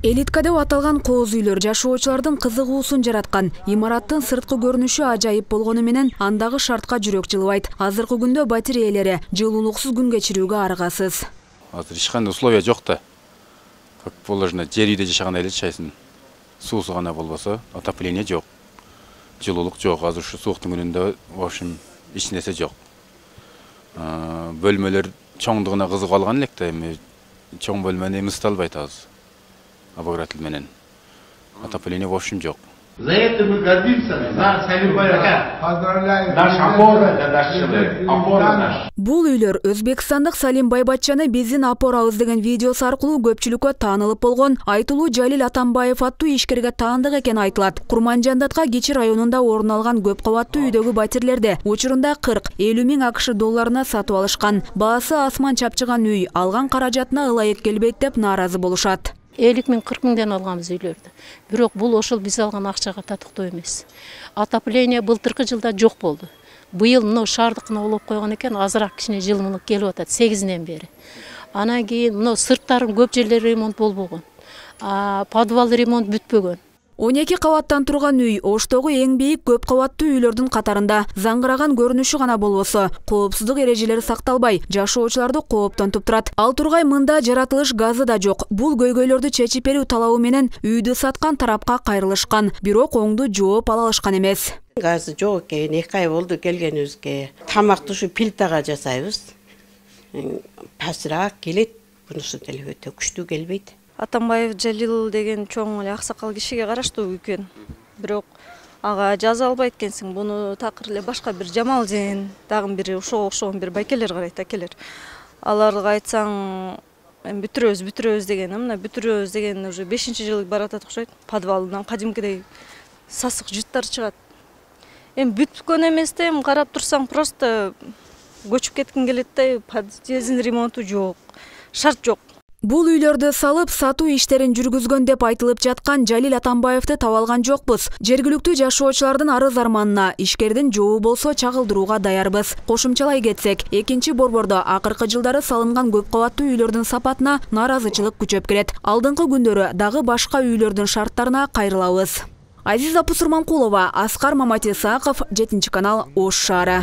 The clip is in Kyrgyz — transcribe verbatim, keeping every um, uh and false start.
Элитка деп аталган кооз үйлөр жашоочулардын кызыгуусун жараткан. Имараттын сырткы көрүнүшү ажайып болгону менен андагы шартка жүрөк жылыбайт. Азыркы күндө батир ээлери жылуулуксуз күн кечирүүгө аргасыз. Азыр эч кандай условия жок да. Как положено, жер үйдө жашагандай эле жашайсың. Суусу гана болбосо, отопление жок. Жылуулук жок. Азыр ушу сууктун күнүндө, в общем, эч нерсе жок. Бөлмөлөр чоңдугуна кызыгып алган элек да, эми чоң бөлмөнү эмисте албайт азыр. Обогреватель менен. Отопление в общем жок. За это мы гордимся, за Салим Байрака. Поздравляем. Наш опора, это наш человек. Опора наш. Бул үйлөр Өзбекстандык Салим Байбатчаны биздин опорабыз деген видеосу аркылуу көпчүлүккө таанылып болгон Айтылуу Жалил Атамбаев аттуу ишкерге таандык экени айтылат. Курманжандатка Кичи районунда орун алган көп кабаттуу үйдөгү батирлерди учурунда кырк элүү миң акш долларына сатып алышкан. Баасы асман чапчыган үй алган каражатына ылайык келбейт деп нааразы болушат. элүү миң кырк миңден алганбыз үйлөрдү. Бирок бул ошол биз алган акчага татыктуу эмес. Отопление былтыркы жылда жок болду. Быйыл мына шаардыкына улап койгон экен, азыраак кичине жылымдык келип атат сегизинен бери. Анан кийин мына сырттарын көп жерлери ремонт болбогон. Подвал ремонт бүтпөгөн. он эки кабаттан турган үй Оштогу эң бийик көп кабаттуу үйлөрдүн катарында. Заңгыраган көрүнүшү гана болбосо, коопсуздук эрежелери сакталбай, жашоочуларды кооптонтуп турат. Ал тургай мында жаратылыш газы да жок. Бул көйгөйлөрдү чечип берүү талабы менен үйдү саткан тарапка кайрылышкан, бирок оңду жооп ала алышкан эмес. Газы жок экен, эки ай болду келгенибизге. Тамакты ушу плитага жасайбыз. Пасыраак келет, бунусу деле өтө күчтүү келбейт. Атамбаев Жалил деген чоң эле аксакал кишиге караштуу экен. Бирок ага жаза албайт экенсиң. Буну такыр эле башка бир Жамал Жээн, дагы бири ошого окшогон бир байкелер карайт, акелер. Аларга айтсаң, эми бүтүрөбүз, бүтүрөбүз деген, мына бүтүрөбүз деген уже бешинчи жылы баратат окшойт. Подвалынан кадимкидей сасык жыттар чыгат. Эми бүткөн эмес да, эми карап турсаң просто көчүп кеткиң келет да, подъездин ремонту жок, шарт жок. Бул үйлөрдү салып, сатуу иштерин жүргүзгөн деп айтылып жаткан Жалил Атамбаевди таба алган жокпуз. Жергиликтүү жашоочулардын арыз арманына ишкердин жообу болсо чагылдырууга даярбыз. Кошумчалай кетсек, экинчи борбордо акыркы жылдары салынган көп кабаттуу үйлөрдүн сапатына нааразычылык күчөп келет. Алдыңкы күндөрү дагы башка үйлөрдүн шарттарына кайрылабыз. Азиза Пусурманкулова, Аскар Маматисаков, жетинчи канал, Ош шаары.